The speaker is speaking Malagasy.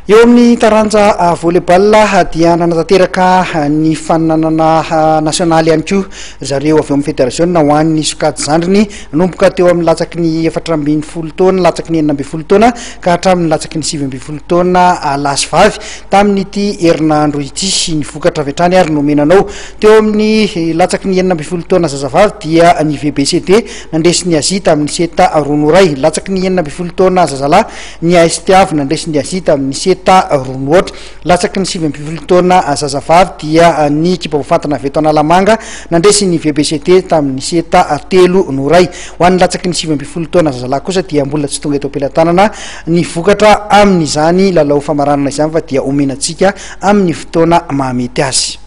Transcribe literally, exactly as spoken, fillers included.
Eo amin'ny taranja volley-ball dia nanatanteraka ny faninanana nasionaly ihany koa zareo avy eo amin'ny federasiona ho an'ny sokajy zandriny, nanomboka teo amin'ny latsaky ny efatra ambin'ny folo taona, latsaky ny enina ambin'ny folo taona ka hatramin'ny latsaky ny sivy ambin'ny folo taona lahy sy vavy tamin'ity herinandro ity. Ny vokatra avy hatrany ary nomena anao: teo amin'ny latsaky ny enina ambin'ny folo taona zazavavy dia ny V B C D nandresy ny Azia tamin'ny seta roa noho iray. Latsaky ny enina ambin'ny folo taona zazalahy, ny A S T avy nandresy ny Azia tamin'ny seta roa noho aotra. Latsaky ny sivy ambin'ny folo taona zazavavy dia ny ekipa voafantina avy eto Analamanga nandresy ny V B C D tamin'ny seta telo noho iray. Ho an'ny latsaky ny sivy ambin'ny folo taona zazalahy kosa dia mbola tsy tonga eto am-pelatanana ny vokatra amin'izany lalao famaranana izany, fa dia omenantsika amin'ny fotoana mahamety azy.